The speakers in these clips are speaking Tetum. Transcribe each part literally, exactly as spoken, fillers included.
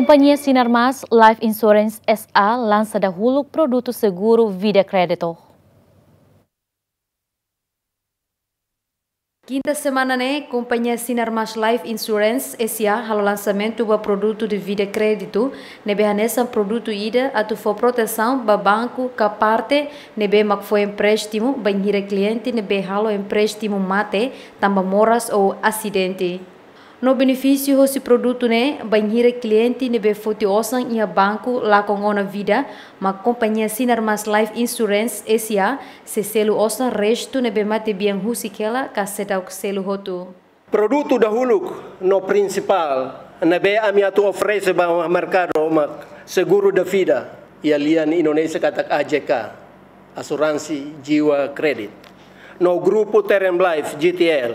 Kompañia Sinar Mas Life Insurance S A lansa dahuluk produtu seguru vida kréditu. Kinta semana ne'e, Kompañia Sinar Mas Life Insurance S A halo lansamentu ba produtu de vida kréditu, ne'ebé hanesan produtu ida atu fó protesaun ba banku ka parte ne'ebé mak fó empréstimu bainhira kliente ne'ebé halo empréstimu mate tanba moras ou asidente. No benefísiu hosi produtu ne'e, bainhira kliente ne'ebé foti osan iha banku lakon ona vida, mak Kompañia Sinar Mas Life Insurance S A sei selu osan restu ne'ebé matebian husik hela ka seidauk selu hotu. Produtu dahuluk no prinsipál ne'ebé ami atu oferese ba merkadu mak seguru da vida, iha lian Indonézia katak A J K, Asuransi Jiwa Kredit, no Grupu Term Life, G T L.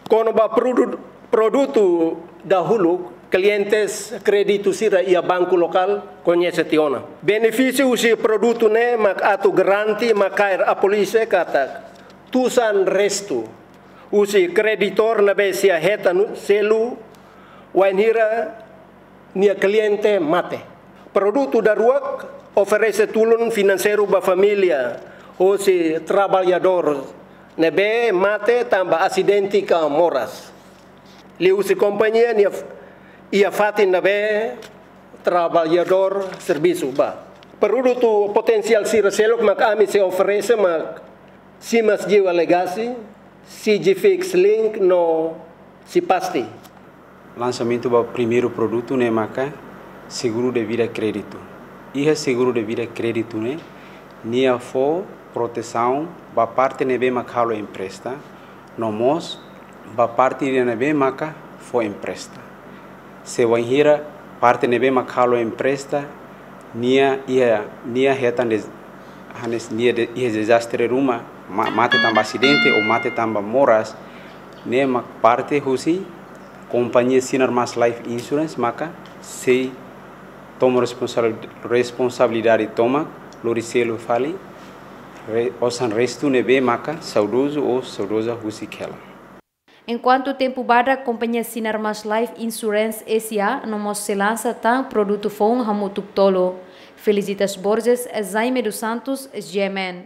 Kona-ba produ-, produtu dahuluk, klientes kréditu sira iha banku lokál koñese tiha ona. Benefísiu husi produtu ne'e mak atu garante makaer apólize katak tusan restu husi kreditór ne'ebé sei hetan selu wainhira nia kliente mate. Produtu daruak oferese tulun finanseiru ba família hosi traballadór ne'ebé mate tanba asidente ka moras. Liuhusi kompañia nia f-, iha fatin ne'ebé traballadór servisu ba. Produtu potensiál sira seluk mak ami sei oferese mak Simas Jiwa Legacy, C G Fix Link no Sipasti. Lansamentu ba primeiru produtu ne'e maka seguru de vida kréditu. Iha seguru de vida kréditu ne'e, nia fó protesaun ba parte ne'ebé mak halo empresta, no mós ba parte ida ne'ebé maka fó empresta. Se wainhira parte ne'ebé mak halo empresta, nia iha, nia hetan des-, hanesan nia de-, iha dezastre ruma, ma-, mate tanba asidente ou mate tanba moras, ne'e mak parte husi Kompañia Sinar Mas Life Insurance maka sei toma responsab-, responsabilidade tomak, lori selu fali, re-, osan restu ne'ebé maka saudozu ou saudoza husik hela. Enkuantu tempu badak, Kompañia Sinar Mas Life Insurance S A no mós sei lansa tan produtu foun hamutuk tolu. Felicitas Borges, Jaime dos Santos, G M N.